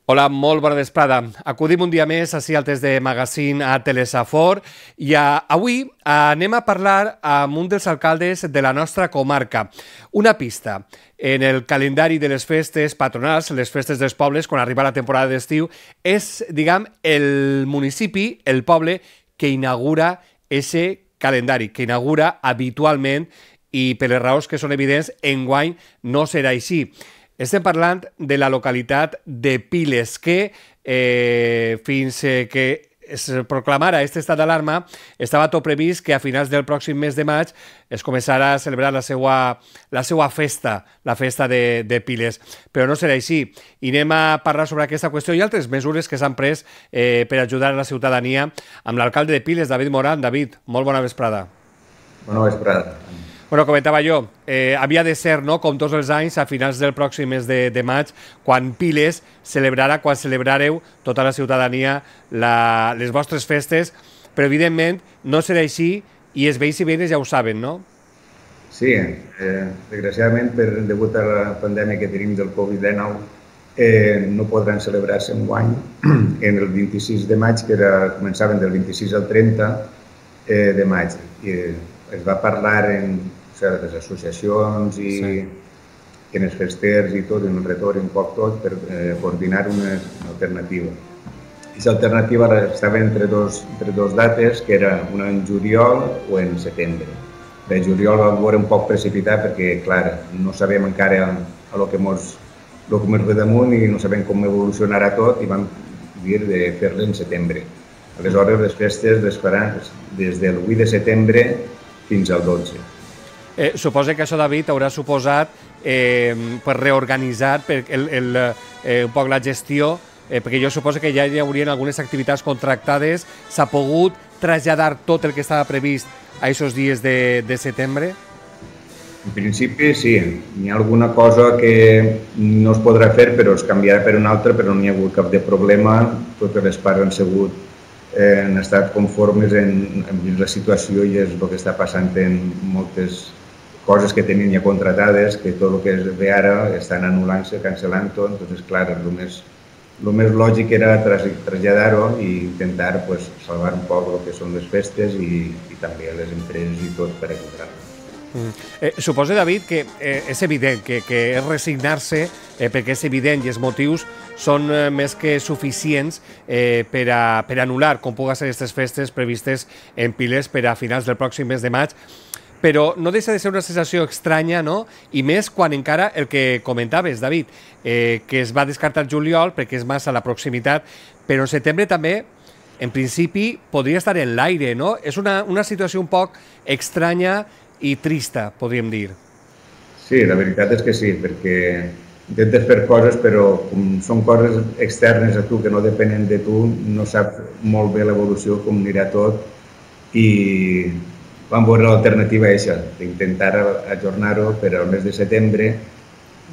Hola, molt bona vesprada. Acudim un dia més ací al test de Magazine a Telesafor i avui anem a parlar amb un dels alcaldes de la nostra comarca. Una pista. En el calendari de les festes patronals, les festes dels pobles, quan arriba la temporada d'estiu, és, diguem, el municipi, el poble, que inaugura ese calendari, que inaugura habitualment i per les raons que són evidents, enguany no serà així. Estem parlant de la localitat de Piles, que fins que es proclamara aquest estat d'alarma estava tot previst que a finals del pròxim mes de maig es començarà a celebrar la seva festa, la festa de Piles. Però no serà així. I anem a parlar sobre aquesta qüestió i altres mesures que s'han pres per ajudar a la ciutadania amb l'alcalde de Piles, David Moran. David, molt bona vesprada. Bona vesprada. Bueno, comentava jo, havia de ser, no, com tots els anys, a finals del pròxim mes de maig, quan Piles celebrarà, quan celebrareu tota la ciutadania les vostres festes, però evidentment no serà així i els veïns i veïnes ja ho saben, no? Sí, desgraciadament, degut a la pandèmia que tenim del Covid-19, no podran celebrar-se enguany en el 26 de maig, que començaven del 26 al 30 de maig. Es va parlar en les associacions i en els festers i tot, en el retorn, un poc tot, per coordinar una alternativa. I l'alternativa estava entre dos dates, que era una en juliol o en setembre. De juliol vam veure un poc precipitat perquè, clar, no sabem encara el que ens ve damunt i no sabem com evolucionarà tot i vam dir de fer-la en setembre. Aleshores, les festes les faran des del 8 de setembre fins al 12. Suposa que això, David, haurà suposat per reorganitzar un poc la gestió, perquè jo suposo que ja hi haurien algunes activitats contractades. S'ha pogut traslladar tot el que estava previst a aquests dies de setembre? En principi, sí. Hi ha alguna cosa que no es podrà fer, però es canviarà per una altra, però no hi ha hagut cap de problema. Totes les parts han estat conformes en la situació i és el que està passant en moltes coses que tenien ja contratades, que tot el que es ve ara estan anul·lant-se, cancel·lant tot. Doncs, clar, el més lògic era traslladar-ho i intentar salvar un poc el que són les festes i també les empreses i tot per ajudar-ho. Suposo, David, que és evident que és resignar-se, perquè és evident i els motius són més que suficients per anul·lar com pugui ser aquestes festes previstes en Piles per a finals del pròxim mes de maig, però no deixa de ser una sensació estranya, no? I més quan encara el que comentaves, David, que es va descartar juliol perquè és massa la proximitat, però en setembre també, en principi, podria estar en l'aire, no? És una situació un poc estranya i trista, podríem dir. Sí, la veritat és que sí, perquè intentes fer coses, però com són coses externes a tu, que no depenen de tu, no saps molt bé l'evolució, com anirà tot, i vam veure l'alternativa aquesta, d'intentar ajornar-ho per al mes de setembre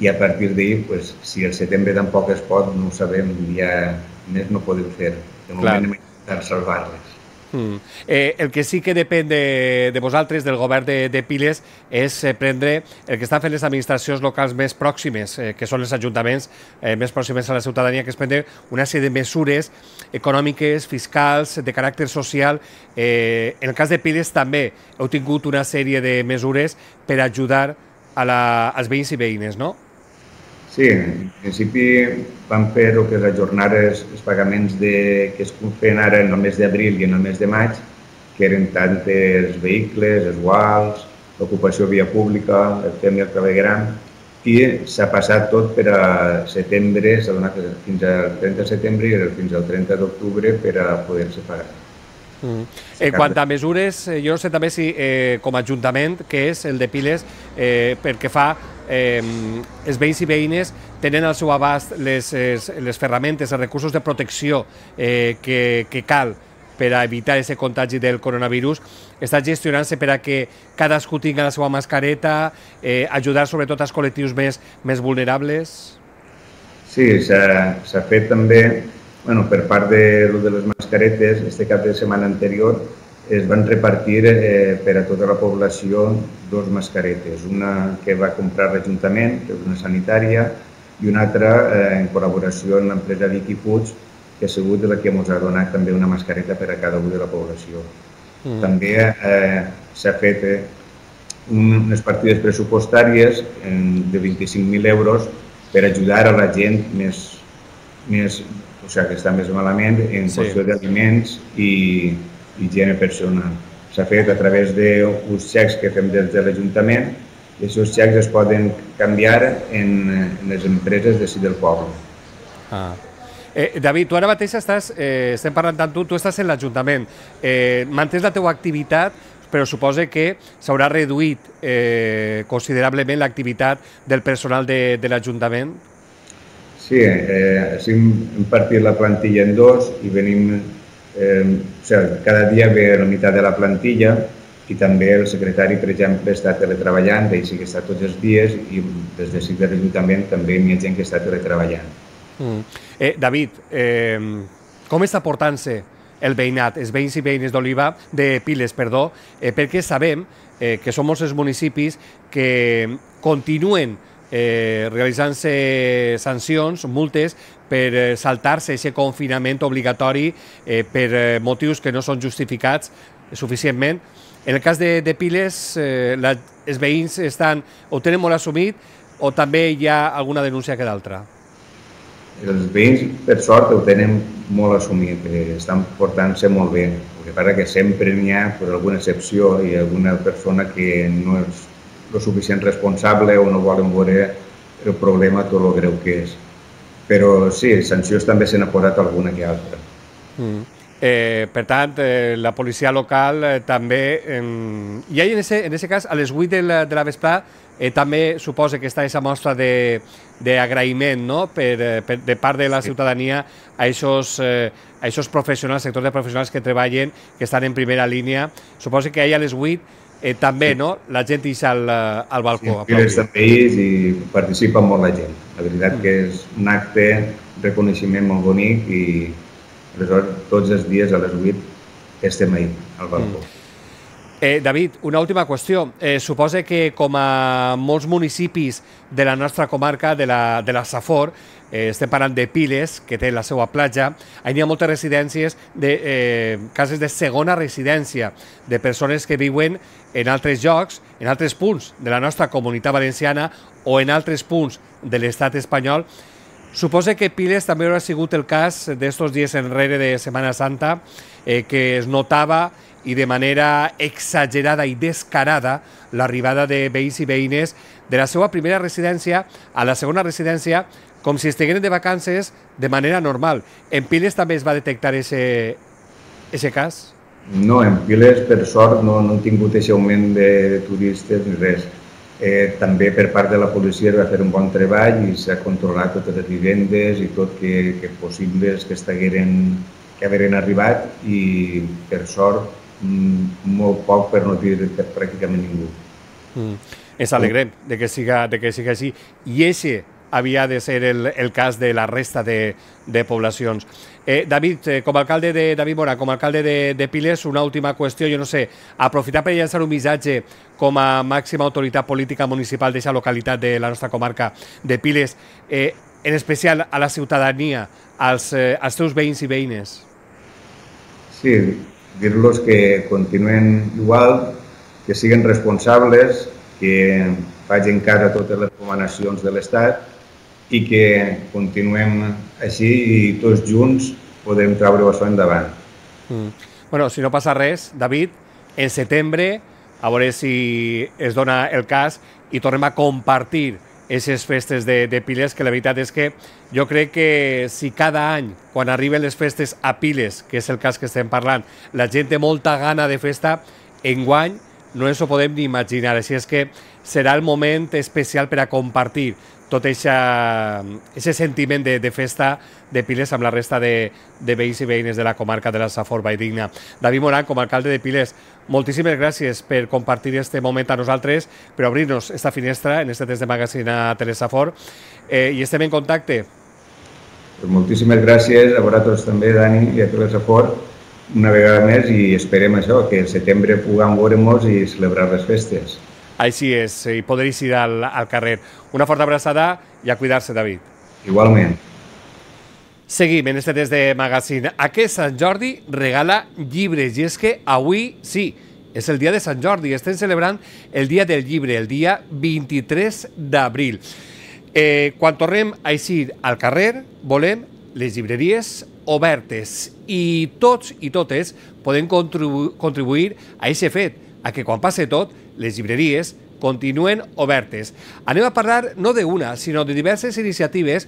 i a partir d'ahir, si el setembre tampoc es pot, no ho sabem, ja més no podem fer. De moment hem intentat salvar-les. El que sí que depèn de vosaltres, del govern de Piles, és prendre el que estan fent les administracions locals més pròximes, que són els ajuntaments més pròximes a la ciutadania, que és prendre una sèrie de mesures econòmiques, fiscals, de caràcter social. En el cas de Piles també heu tingut una sèrie de mesures per ajudar als veïns i veïnes, no? Sí, en principi vam fer el que és ajornar els pagaments que es feien ara en el mes d'abril i en el mes de maig, que eren tant els vehicles, els guals, l'ocupació via pública, el tema del clavegueram, i s'ha passat tot per a setembre, s'ha donat fins al 30 de setembre i fins al 30 d'octubre per a poder-se pagar. Quant a mesures, jo no sé també si com a ajuntament, que és el de Piles, perquè fa els veïns i veïnes tenen al seu abast les ferramentes, els recursos de protecció que cal per a evitar aquest contagi del coronavirus. Està gestionant-se per a que cadascú tingui la seva mascareta, ajudar sobretot als col·lectius més vulnerables? Sí, s'ha fet també, per part de les mascaretes, este cap de setmana anterior es van repartir per a tota la població 2 mascaretes. Una que va comprar l'Ajuntament, que és una sanitària, i una altra en col·laboració amb l'empresa Vicky Foods, que ha sigut la que ens ha donat també una mascareta per a cada un de la població. També s'ha fet unes partides pressupostàries de 25.000 euros per ajudar a la gent que està més malament en qüestió d'aliments i higiene personal. S'ha fet a través d'uns xecs que fem des de l'Ajuntament i aquests xecs es poden canviar en les empreses d'ací del poble. David, tu ara mateix estem parlant tant tu estàs en l'Ajuntament, mantens la teva activitat, però suposa que s'haurà reduït considerablement l'activitat del personal de l'Ajuntament? Sí, així hem partit la plantilla en dos i venim, cada dia ve la meitat de la plantilla i també el secretari, per exemple, està teletreballant, ell sí que està tots els dies i des de l'Ajuntament també hi ha gent que està teletreballant. David, com està portant-se el veïnat, els veïns i veïnes de Piles, perquè sabem que són molts els municipis que continuen realitzant-se sancions, multes, per saltar-se aquest confinament obligatori per motius que no són justificats suficientment. En el cas de Piles, els veïns ho tenen molt assumit o també hi ha alguna denúncia que d'altra? Els veïns, per sort, ho tenen molt assumit, estan portant-se molt bé. El que passa que sempre n'hi ha alguna excepció i alguna persona que no és el suficient responsable o no volen veure el problema tot el greu que és. Però sí, sancions també se n'ha posat alguna que altra. Per tant, la policia local també... I en aquest cas, a les 8 de la vesprà, també suposa que està aquesta mostra d'agraïment de part de la ciutadania a aquests professionals, sectors de professionals que treballen, que estan en primera línia. Suposa que ahir a les 8 també la gent deixa al balcó. Sí, Piles també i participa molt la gent. La veritat que és un acte de reconeixement molt bonic i aleshores tots els dies a les 8 estem ahí, al balcó. David, una última qüestió. Suposa que com a molts municipis de la nostra comarca, de la Safor, estem parlant de Piles, que té la seva platja, hi ha moltes residències, cases de segona residència, de persones que viuen en altres llocs, en altres punts de la nostra comunitat valenciana o en altres punts de l'estat espanyol. Suposa que Piles també haurà sigut el cas d'estos dies enrere de Setmana Santa, que es notava i de manera exagerada i descarada l'arribada de veïns i veïnes de la seva primera residència a la segona residència com si estigueren de vacances de manera normal. En Piles també es va detectar aquest cas? No, en Piles, per sort, no hem tingut aquest augment de turistes ni res. També per part de la policia es va fer un bon treball i s'ha controlat totes les vivendes i tot que possibles que hagueren arribat i, per sort, molt poc, per no dir pràcticament ningú. Ens alegrem de que siga així. I aquest havia de ser el cas de la resta de poblacions. David, com a alcalde David Mora, com a alcalde de Piles, una última qüestió, jo no sé, aprofitar per llançar un missatge com a màxima autoritat política municipal d'aquesta localitat de la nostra comarca de Piles, en especial a la ciutadania, als teus veïns i veïnes. Sí, dir-los que continuen igual, que siguin responsables, que facin cas a totes les recomanacions de l'Estat i que continuem així i tots junts podem treure això endavant. Bueno, si no passa res, David, en setembre, a veure si es dona el cas i tornem a compartir aquestes festes de Piles, que la veritat és que jo crec que si cada any, quan arriben les festes a Piles, que és el cas que estem parlant, la gent té molta gana de festa, enguany no ens ho podem ni imaginar. Així és que serà el moment especial per a compartir tot aquest sentiment de festa de Piles amb la resta de veïns i veïnes de la comarca de la Safor Valldigna. David Moran, com a alcalde de Piles, moltíssimes gràcies per compartir aquest moment a nosaltres, per obrir-nos esta finestra en este test de magazine a Telesafor, i estem en contacte. Moltíssimes gràcies a vosaltres també, Dani, i a Telesafor, una vegada més, i esperem això, que al setembre puguem veure'ns i celebrar les festes. Així és, i podréis ir al carrer. Una forta abraçada i a cuidar-se, David. Igualment. Seguim en este test de Magazine. Aquest Sant Jordi regala llibres, i és que avui, sí, és el dia de Sant Jordi. Estem celebrant el dia del llibre, el dia 23 d'abril. Quan tornem a eixir al carrer, volem les llibreries obertes i tots i totes podem contribuir a aquest fet, a que quan passe tot, les llibreries continuen obertes. Anem a parlar no d'una, sinó de diverses iniciatives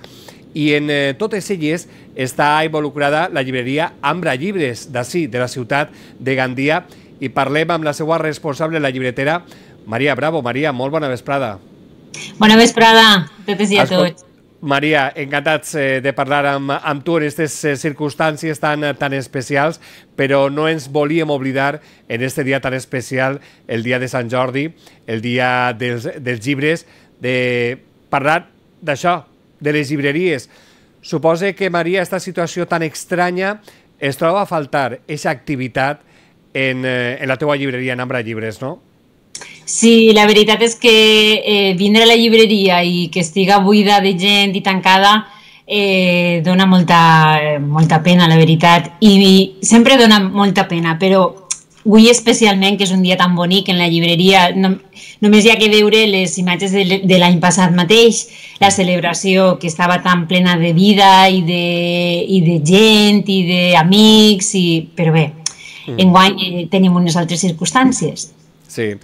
i en totes elles està involucrada la llibreria Ambra Llibres, d'ací, de la ciutat de Gandia, i parlem amb la seva responsable, la llibretera, Maria Bravo. Maria, molt bona vesprada. Bona vesprada a totes i a tots. Maria, encantats de parlar amb tu en aquestes circumstàncies tan especials, però no ens volíem oblidar en aquest dia tan especial, el dia de Sant Jordi, el dia dels llibres, de parlar d'això, de les llibreries. Suposo que, Maria, aquesta situació tan estranya es troba a faltar aquesta activitat en la teua llibreria, en Ambra Llibres, no? Sí, la veritat és que vindre a la llibreria i que estiga buida de gent i tancada dona molta pena, la veritat. I sempre dona molta pena, però avui especialment, que és un dia tan bonic en la llibreria, només hi ha que veure les imatges de l'any passat mateix, la celebració que estava tan plena de vida i de gent i d'amics, però bé, enguany tenim unes altres circumstàncies. Sí,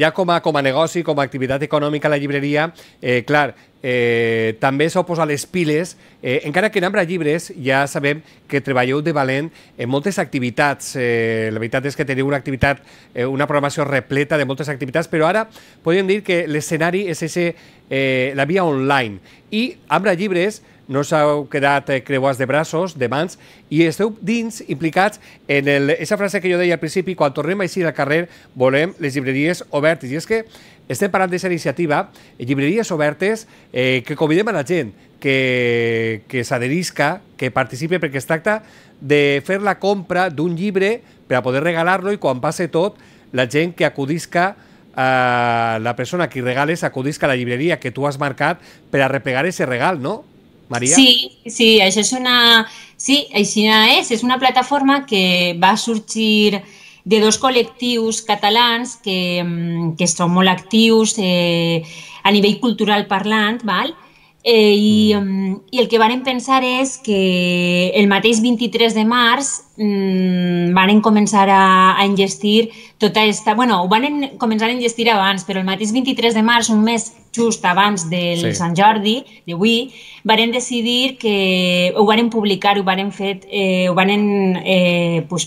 ja com a negoci, com a activitat econòmica, la llibreria, clar, també s'ha posat les piles, encara que en Ambra Llibres ja sabem que treballeu de valent en moltes activitats. La veritat és que teniu una programació repleta de moltes activitats, però ara podem dir que l'escenari és la via online. I Ambra Llibres no s'heu quedat creuats de braços, de mans, i esteu dins, implicats en aquesta frase que jo deia al principi, quan tornem a eixir al carrer volem les llibreries obertes. I és que estem parlant d'aquesta iniciativa, llibreries obertes, que convidem a la gent que s'adherisca, que participi, perquè es tracta de fer la compra d'un llibre per a poder regalar-lo, i quan passe tot, la gent que acudisca, la persona que regales acudisca a la llibreria que tu has marcat per a replegar aquest regal, no? Maria? Sí, això és una plataforma que va sorgir de dos col·lectius catalans que són molt actius a nivell cultural parlant, val? I el que varen pensar és que el mateix 23 de març varen començar a enllestir tota aquesta... Bueno, ho varen començar a enllestir abans, però el mateix 23 de març, un mes just abans del Sant Jordi, d'avui, varen decidir que ho varen publicar, ho varen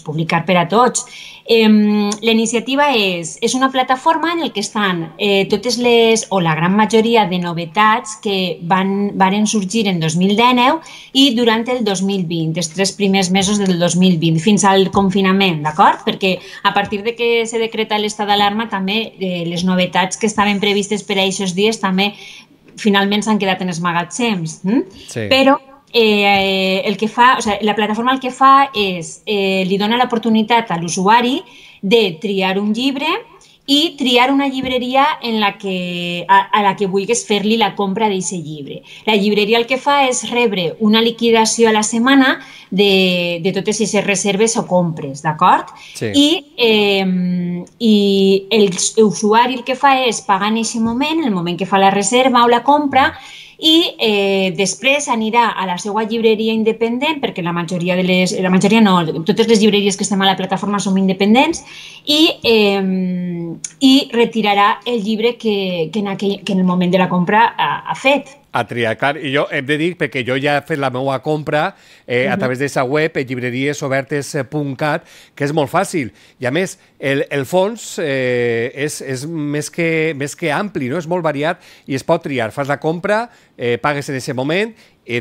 publicar per a tots. La iniciativa és una plataforma en què estan totes les, o la gran majoria de novetats que varen sorgir en 2019 i durant el 2020, els 3 primers mesos del 2020, fins al confinament, d'acord? Perquè a partir de que se decreta l'estat d'alarma també les novetats que estaven previstes per a aquests dies també finalment s'han quedat en els magatzems. Però la plataforma el que fa és li dona l'oportunitat a l'usuari de triar un llibre i triar una llibreria a la que vulguis fer-li la compra d'aquest llibre. La llibreria el que fa és rebre una liquidació a la setmana de totes aquestes reserves o compres, d'acord? I l'usuari el que fa és pagar en aquest moment, en el moment que fa la reserva o la compra, i després anirà a la seva llibreria independent, perquè totes les llibreries que estem a la plataforma som independents, i retirarà el llibre que en el moment de la compra ha fet. A triar, clar. I jo hem de dir, perquè jo ja he fet la meva compra a través d'aquesta web, llibreriesobertes.cat, que és molt fàcil. I a més, el fons és més que ampli, no? És molt variat i es pot triar. Fas la compra, pagues en aquest moment,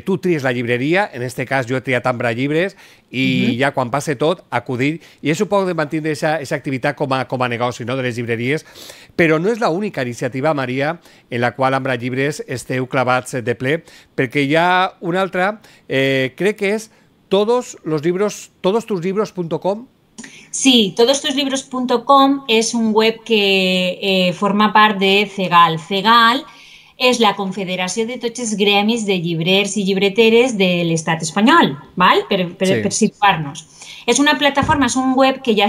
tu tries la llibreria, en aquest cas jo he triat Ambra Llibres, i ja quan passe tot, acudir. I és un poc de mantenir aquesta activitat com a negoci, no?, de les llibreries. Però no és l'única iniciativa, Maria, en la qual Ambra Llibres esteu clavats de ple, perquè hi ha una altra, crec que és todostuslibros.com, Sí, todostuslibros.com es un web que forma part de CEGAL. CEGAL és la confederació de tots els gremis de llibrers i llibreteres de l'estat espanyol, val? Per situar-nos. És una plataforma, és un web que ja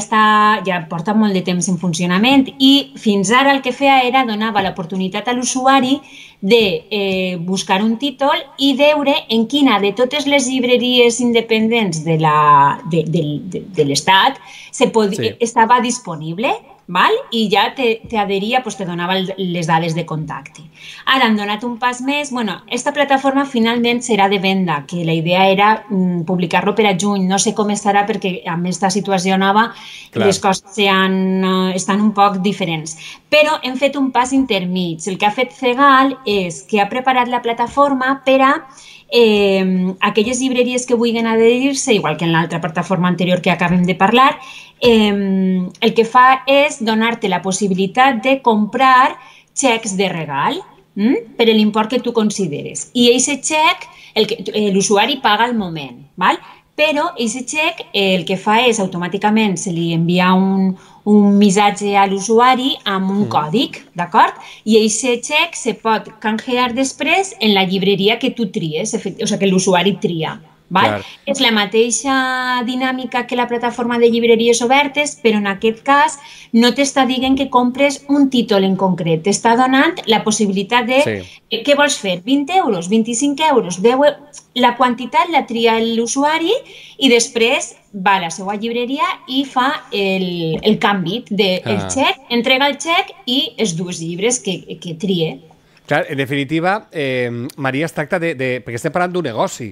porta molt de temps en funcionament i fins ara el que feia era donava l'oportunitat a l'usuari de buscar un títol i veure en quina de totes les llibreries independents de l'estat estava disponible, val? I ja t'adheria, te donava les dades de contacte. Ara han donat un pas més. Bueno, esta plataforma finalment serà de venda, que la idea era publicar-lo per a juny. No sé com estarà perquè amb aquesta situació nova les coses estan un poc diferents. Però hem fet un pas intermig. El que ha fet CEGAL és que ha preparat la plataforma per a aquelles llibreries que vulguin adherir-se, igual que en l'altra plataforma anterior que acabem de parlar, el que fa és donar-te la possibilitat de comprar xecs de regal per l'import que tu consideres. I aquest xec l'usuari paga al moment, val? Però aquest xec el que fa és automàticament se li envia un missatge a l'usuari amb un còdic, d'acord? I aquest xec se pot canjear després en la llibreria que tu tries, o sigui, que l'usuari tria. Val? És la mateixa dinàmica que la plataforma de llibreries obertes, però en aquest cas no t'està dient que compres un títol en concret, t'està donant la possibilitat de què vols fer, 20 euros, 25 euros, 10 euros, la quantitat la tria l'usuari i després va a la seva llibreria i fa el canvi del xec, entrega el xec i els dos llibres que trie. Clar, en definitiva, Maria, es tracta perquè estem parlant d'un negoci,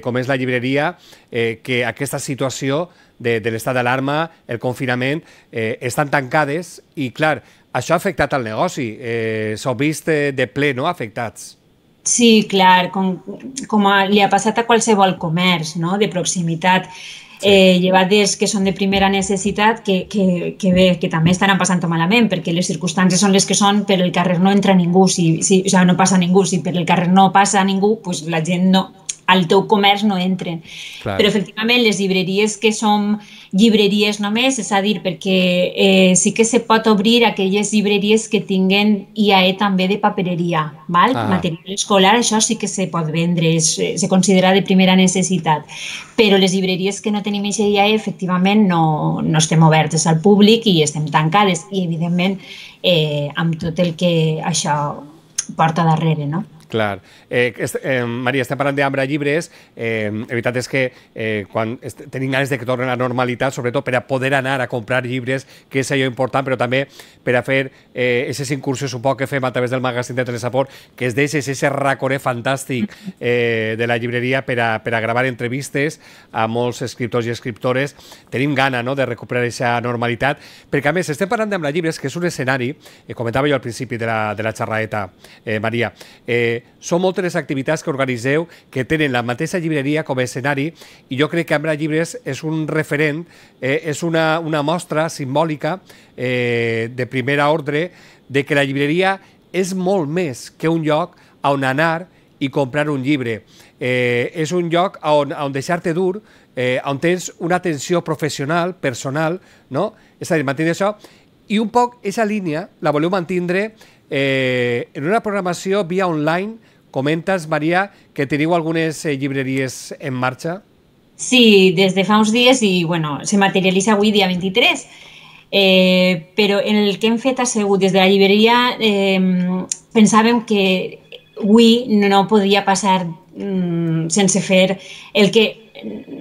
com és la llibreria, que aquesta situació de l'estat d'alarma, el confinament, estan tancades i, clar, això ha afectat el negoci. S'ho vist de ple, no?, afectats. Sí, clar, com li ha passat a qualsevol comerç, no?, de proximitat. Llevades que són de primera necessitat que també estaran passant malament perquè les circumstàncies són les que són, per el carrer no entra ningú, no passa ningú, si per el carrer no passa ningú, la gent no, al teu comerç no entren. Però efectivament les llibreries que som llibreries només, és a dir, perquè sí que se pot obrir aquelles llibreries que tinguen IAE també de papereria, material escolar, això sí que se pot vendre, se considera de primera necessitat. Però les llibreries que no tenim aquesta IAE, efectivament, no estem obertes al públic i estem tancades. I, evidentment, amb tot el que això porta darrere, no? Clar. Maria, estem parlant d'Ambra Llibres. La veritat és que quan tenim ganes de que torni a la normalitat, sobretot per a poder anar a comprar llibres, que és allò important, però també per a fer aquestes incursions un poc que fem a través del magazín de Telesaport, que es deixa aquest raconer fantàstic de la llibreria per a gravar entrevistes a molts escriptors i escriptores. Tenim gana de recuperar aquesta normalitat, perquè a més estem parlant d'Ambra Llibres, que és un escenari, comentava jo al principi de la xerraeta, Maria, són moltes les activitats que organitzeu que tenen la mateixa llibreria com a escenari i jo crec que Ambra Llibres és un referent, és una mostra simbòlica de primera ordre de que la llibreria és molt més que un lloc on anar i comprar un llibre. És un lloc on deixar-te dur, on tens una atenció professional, personal, no? És a dir, mantenir això. I un poc aquesta línia la voleu mantindre en una programació via online. Comentes, Maria, que teniu algunes llibreries en marxa? Sí, des de fa uns dies i se materialitza avui, dia 23. Però en el que hem fet ha sigut des de la llibreria pensàvem que avui no podia passar sense fer el que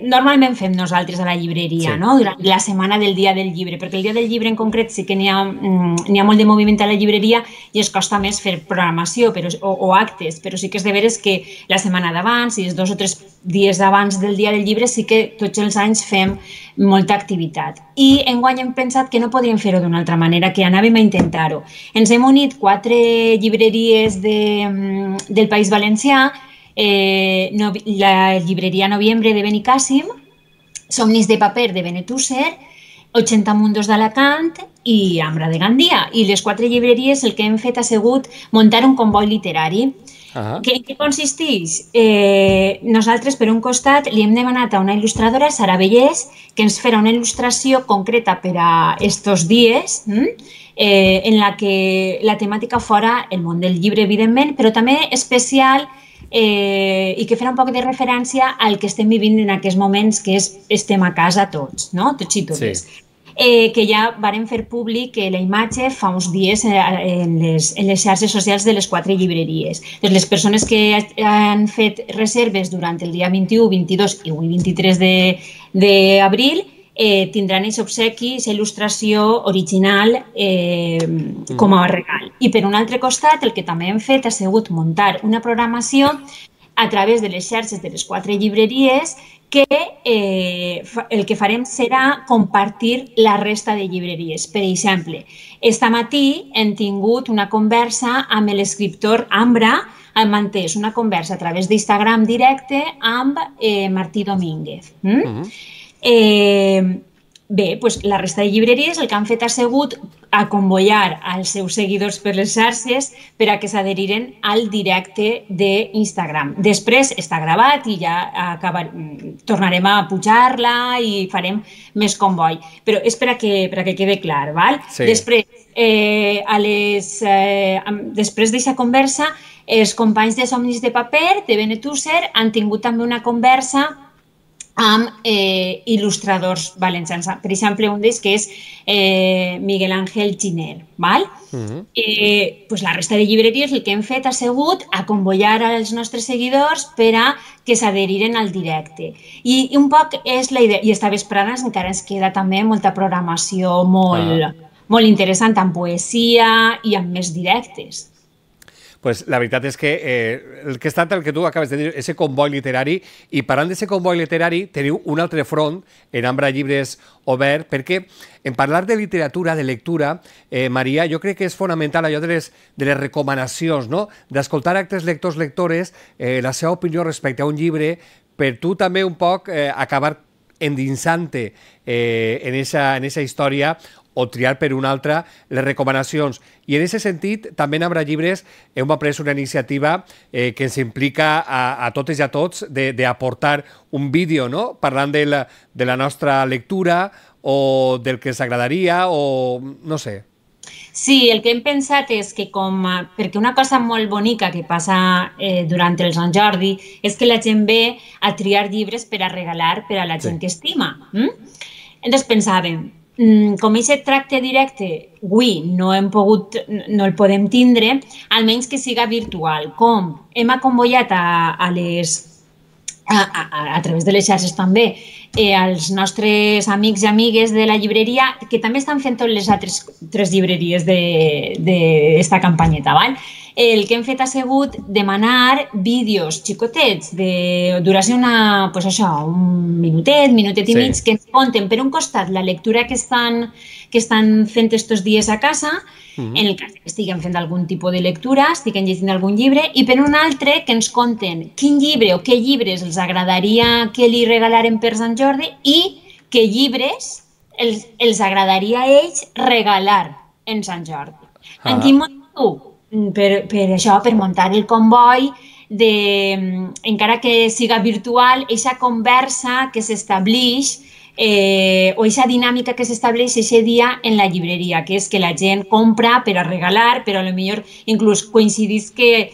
normalment fem nosaltres a la llibreria, durant la setmana del dia del llibre, perquè el dia del llibre en concret sí que n'hi ha molt de moviment a la llibreria i es costa més fer programació o actes, però sí que és de veres que la setmana d'abans i els 2 o 3 dies d'abans del dia del llibre sí que tots els anys fem molta activitat. I enguany hem pensat que no podríem fer-ho d'una altra manera, que anàvem a intentar-ho. Ens hem unit 4 llibreries del País Valencià, la llibreria Noviembre de Benicàssim, Somnis de paper de Benetússer 80 Mundos d'Alacant i Ambra de Gandia. I les 4 llibreries el que hem fet ha sigut muntar un comboi literari. En què consisteix? Nosaltres, per un costat, li hem demanat a una il·lustradora, Sara Bellés, que ens farà una il·lustració concreta per a estos dies, en la que la temàtica fora el món del llibre, evidentment, però també especial i que farà un poc de referència al que estem vivint en aquests moments, que és estem a casa tots, no? Tots i totes. Sí. Que ja varen fer públic la imatge fa uns dies en les xarxes socials de les 4 llibreries. Les persones que han fet reserves durant el dia 21, 22 i avui 23 d'abril tindran aquest obsequi, aquesta il·lustració original com a regal. I per un altre costat, el que també hem fet ha sigut muntar una programació a través de les xarxes de les 4 llibreries que el que farem serà compartir la resta de llibreries. Per exemple, este matí hem tingut una conversa amb l'escriptor Ambra, hem mantès una conversa a través d'Instagram directe amb Martí Domínguez. Bé, doncs la resta de llibreries el que han fet ha sigut convocar als seus seguidors per les xarxes per a que s'adheriren al directe d'Instagram. Després està gravat i ja tornarem a pujar-la i farem més comboi. Però és per a que quede clar, val? Després, després d'aquesta conversa, els companys de Somnis de Paper, de Benetússer, han tingut també una conversa amb il·lustradors valencians. Per exemple, un d'ells que és Miguel Ángel Giner. La resta de llibreries el que hem fet ha sigut convocar els nostres seguidors per a que s'adheriren al directe. I un poc és la idea. I esta vesprada encara ens queda també molta programació molt interessant, amb poesia i amb més directes. Pues la veritat és que el que es tracta, el que tu acabes de dir, és comboi literari, i parlant d'aquest comboi literari teniu un altre front en Ambra Llibres Obert, perquè en parlar de literatura, de lectura, Maria, jo crec que és fonamental allò de les recomanacions, no? D'escoltar altres lectors, lectores, la seva opinió respecte a un llibre, per tu també un poc acabar endinsant-te en aquesta història o triar per una altra les recomanacions. I en aquest sentit, també en Ambra Llibres hem pres una iniciativa que ens implica a totes i a tots d'aportar un vídeo, no? Parlant de la nostra lectura o del que ens agradaria o no sé. Sí, el que hem pensat és que perquè una cosa molt bonica que passa durant el Sant Jordi és que la gent ve a triar llibres per a regalar per a la gent que estima. Entonces pensàvem, com aquest tracte directe avui no el podem tindre, almenys que siga virtual. Com hem convocat a través de les xarxes també als nostres amics i amigues de la llibreria, que també estan fent totes les altres 3 llibreries d'esta campanyeta. El que hem fet ha sigut demanar vídeos xicotets de duració un minutet i mig, que ens conten per un costat la lectura que estan fent estos dies a casa, en el cas que estiguem fent algun tipus de lectura, estiguem llegint algun llibre, i per un altre que ens conten quin llibre o què llibres els agradaria que li regalaren per Sant Jordi i què llibres els agradaria a ells regalar en Sant Jordi. En quin motiu? Per això, per muntar el comboi, encara que siga virtual, aquesta conversa que s'estableix o aquesta dinàmica que s'estableix aquest dia en la llibreria, que és que la gent compra per a regalar, però potser inclús coincidís que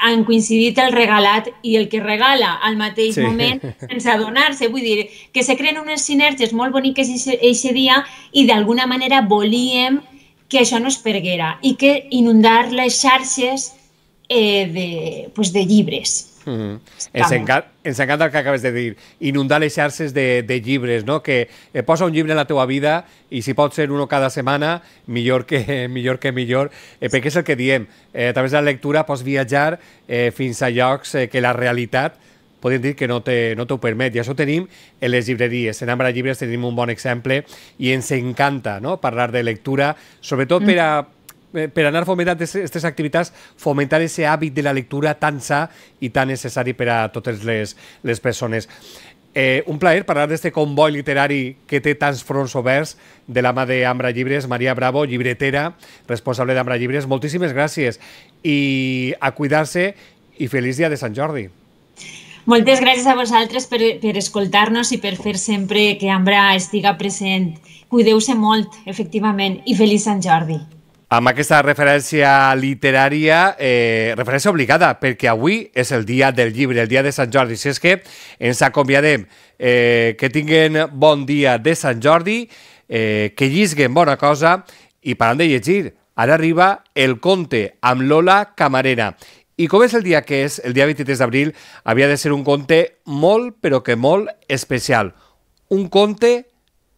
han coincidit el regalat i el que regala al mateix moment sense adonar-se. Vull dir, que se creen unes sinergies molt boniques aquest dia i d'alguna manera volíem que això no es perguera i que inundar les xarxes de llibres. Ens encanta el que acabes de dir, inundar les xarxes de llibres, no? Que posa un llibre en la teva vida i si pot ser uno cada setmana, millor que millor, perquè és el que diem, a través de la lectura pots viatjar fins a llocs que la realitat podem dir que no t'ho permet, i això ho tenim en les llibreries. En Ambra Llibres tenim un bon exemple i ens encanta parlar de lectura, sobretot per anar fomentant aquestes activitats, fomentar aquest hàbit de la lectura tan sa i tan necessari per a totes les persones. Un plaer parlar d'este comboi literari que té tants fronts oberts de la mà d'Ambra Llibres. Maria Bravo, llibretera, responsable d'Ambra Llibres. Moltíssimes gràcies i a cuidar-se i feliç dia de Sant Jordi. Moltes gràcies a vosaltres per escoltar-nos i per fer sempre que Ambra estiga present. Cuideu-se molt, efectivament, i feliç Sant Jordi. Amb aquesta referència literària, referència obligada, perquè avui és el dia del llibre, el dia de Sant Jordi. Si és que ens acomiadem, que tinguen bon dia de Sant Jordi, que llisguen bona cosa i parant de llegir. Ara arriba el conte amb Lola Camarena. I com és el dia que és, el dia 23 d'abril, havia de ser un conte molt, però que molt especial. Un conte,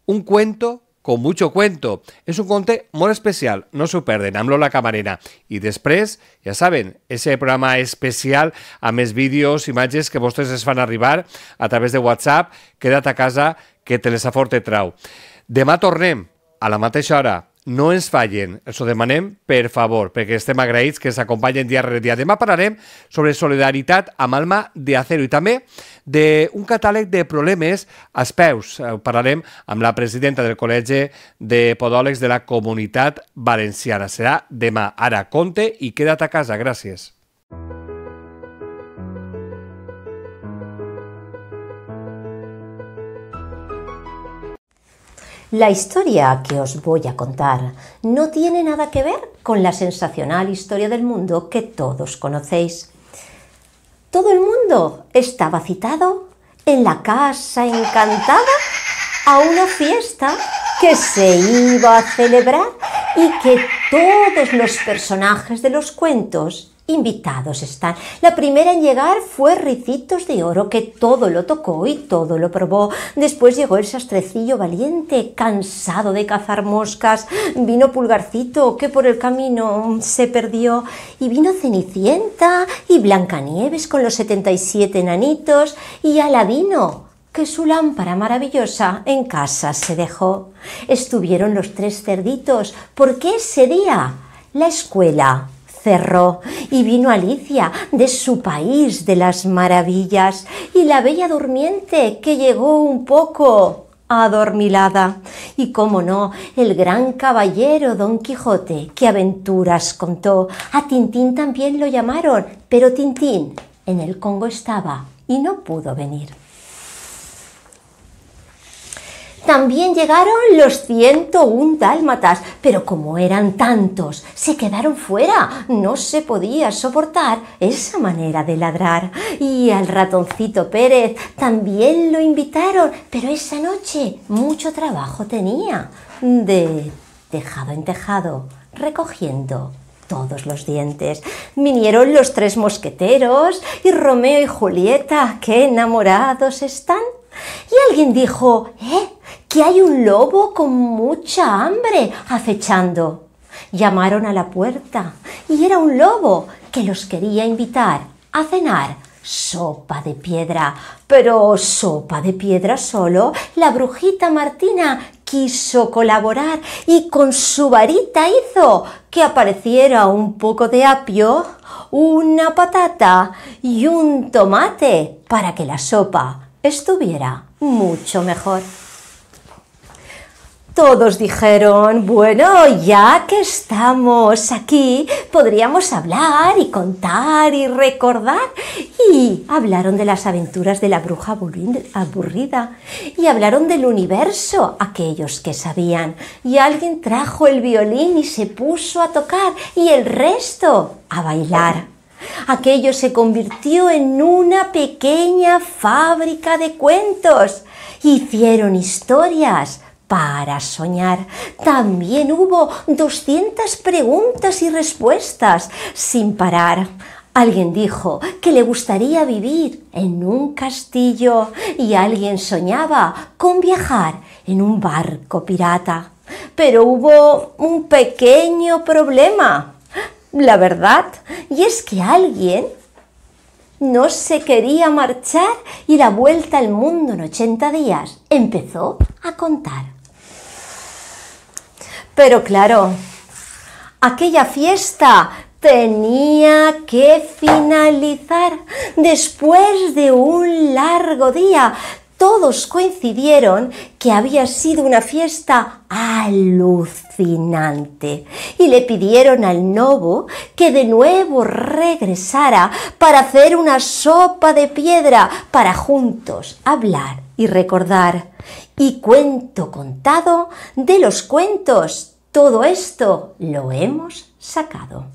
un cuento, con mucho cuento. És un conte molt especial, no s'ho perden, amb Lola Camarena. I després, ja saben, ese programa especial amb els vídeos, imatges que vostès es fan arribar a través de WhatsApp, queda't a casa que Telesafort te trau. Demà tornem a la mateixa hora. No ens fallen, els ho demanem per favor, perquè estem agraïts que ens acompanyen dia rere dia. Demà parlarem sobre solidaritat amb alma de acero i també d'un catàleg de problemes als peus. Parlarem amb la presidenta del Col·legi de Podòlegs de la Comunitat Valenciana. Serà demà. Ara, compte i queda't a casa. Gràcies. La historia que os voy a contar no tiene nada que ver con la sensacional historia del mundo que todos conocéis. Todo el mundo estaba citado en la casa encantada a una fiesta que se iba a celebrar y que todos los personajes de los cuentos invitados están. La primera en llegar fue Ricitos de Oro, que todo lo tocó y todo lo probó. Después llegó el Sastrecillo Valiente, cansado de cazar moscas. Vino Pulgarcito, que por el camino se perdió. Y vino Cenicienta y Blancanieves con los 77 enanitos. Y Aladino, que su lámpara maravillosa en casa se dejó. Estuvieron los tres cerditos, porque ese día la escuela cerró y vino Alicia de su país de las maravillas y la Bella Durmiente, que llegó un poco adormilada. Y cómo no, el gran caballero Don Quijote, que aventuras contó. A Tintín también lo llamaron, pero Tintín en el Congo estaba y no pudo venir. También llegaron los 101 dálmatas, pero como eran tantos, se quedaron fuera. No se podía soportar esa manera de ladrar. Y al ratoncito Pérez también lo invitaron, pero esa noche mucho trabajo tenía, de tejado en tejado, recogiendo todos los dientes. Vinieron los tres mosqueteros y Romeo y Julieta, qué enamorados están. Y alguien dijo, que hay un lobo con mucha hambre acechando. Llamaron a la puerta y era un lobo que los quería invitar a cenar sopa de piedra. Pero sopa de piedra solo, la brujita Martina quiso colaborar y con su varita hizo que apareciera un poco de apio, una patata y un tomate para que la sopa estuviera mucho mejor. Todos dijeron, bueno, ya que estamos aquí, podríamos hablar y contar y recordar. Y hablaron de las aventuras de la bruja aburrida. Y hablaron del universo, aquellos que sabían. Y alguien trajo el violín y se puso a tocar, y el resto a bailar. Aquello se convirtió en una pequeña fábrica de cuentos. Hicieron historias para soñar. También hubo 200 preguntas y respuestas sin parar. Alguien dijo que le gustaría vivir en un castillo y alguien soñaba con viajar en un barco pirata. Pero hubo un pequeño problema, la verdad, y es que alguien no se quería marchar y la vuelta al mundo en 80 días empezó a contar. Pero claro, aquella fiesta tenía que finalizar. Después de un largo día, todos coincidieron que había sido una fiesta alucinante y le pidieron al Novo que de nuevo regresara para hacer una sopa de piedra para juntos hablar y recordar. Y cuento contado de los cuentos, todo esto lo hemos sacado.